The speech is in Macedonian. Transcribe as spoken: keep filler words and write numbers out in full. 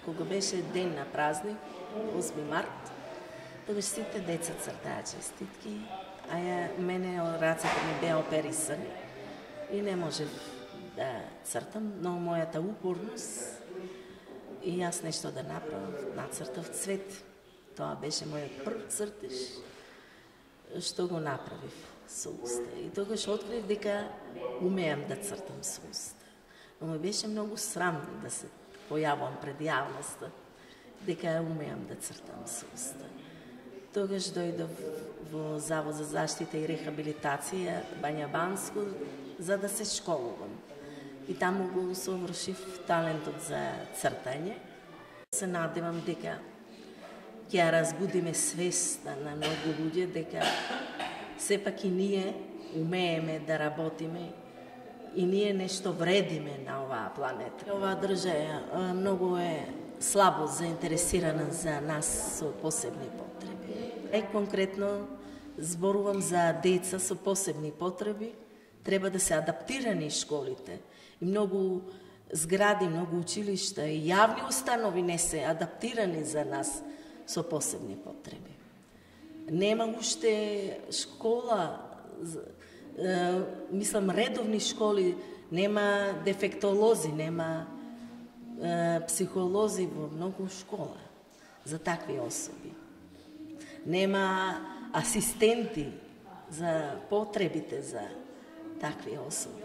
кога беше ден на празник, осми март, тогаш сите деца цртаа честитки, а ја мене рацете ми беа оперисани и не можев да цртам, но мојата упорност и јас нешто да направам, нацртав цвет. Тоа беше мојот прв цртеж, што го направив со уста. И тогаш открив дека умеам да цртам со уста. Но ми беше многу срам да се појавам пред јавноста, дека умеам да цртам со уста. Тогаш дојдов во Завод за заштита и рехабилитација Бања Банско за да се школувам. И таму го совршив талентот за цртање. Се надевам дека ќе ја разбудиме свеста на многу луѓе дека сепак и ние умееме да работиме и ние нешто вредиме на оваа планета. Оваа држава многу е слабо заинтересирана за нас со посебни потреби. Е, конкретно зборувам за деца со посебни потреби, треба да се адаптирани школите. И многу згради, многу училишта и јавни установи не се адаптирани за нас со посебни потреби. Нема уште школа, е, мислам редовни школи, нема дефектолози, нема е, психолози во многу школа за такви особи. Нема асистенти за потребите за такви особи.